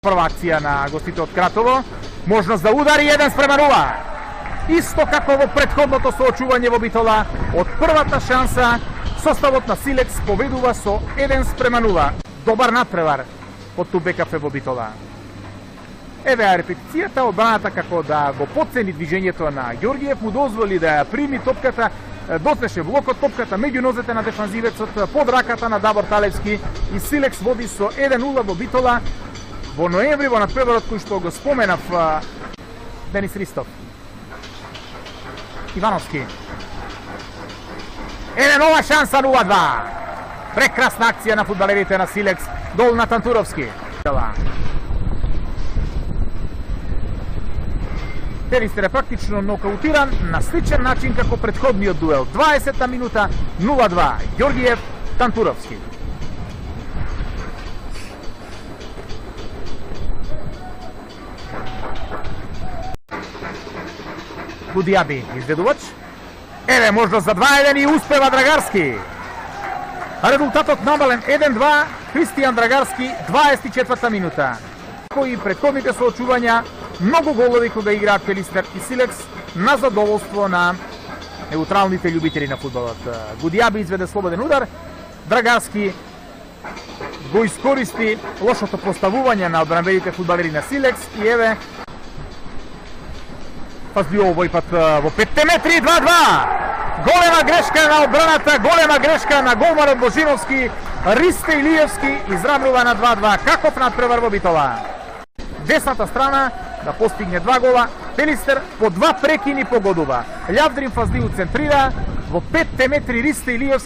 прва акција на гостите од Кратово. Можност за удари 1:0. Исто како во претходното соочување во Битола, од првата шанса составот на Силекс победува со 1:0. Добар надпревар од БКФ во Битола. Еве ја репетицијата, одбраната како да го потцени движењето на Ѓоргиев, му дозволи да ја прими топката, доснеше блокот, топката меѓу нозете на дефанзивецот под раката на Дабор Талевски и Силекс води со 1:0 во Битола во ноември во надпреварот кој што го споменав Денис Ристов. Ивановски. Еве нова шанса 0:2. Прекрасна акција на фудбалерите на Силекс, гол на Тантуровски. Пелистер е практично нокаутиран на сличен начин како претходниот дуел. 20-та минута 0:2. Ѓоргиев, Тантуровски. Гудијаби, изведувач. Еве можност за 2:1 и успева Драгарски. Резултатот намален 1:2. Христијан Драгарски, 24-та минута. Кои претходните соочувања, многу голови кога играат Пелистер и Силекс на задоволство на неутралните љубители на фудбалот. Гудијаби изведе слободен удар, Драгарски го искористи лошото поставување на одбранбените фудбалери на Силекс и еве пазби овој пат во 5 метри 2:2. Голема грешка на одбраната, голема грешка на голманот Божиновски. Ристе Илиевски изравнува на 2:2. Каков надпревар во Битола. Десната страна да постигне 2 гола, Пелистер по 2 прекини погодува. Љавдрин Фаздију центрира, во 5 метри Ристе Илиевски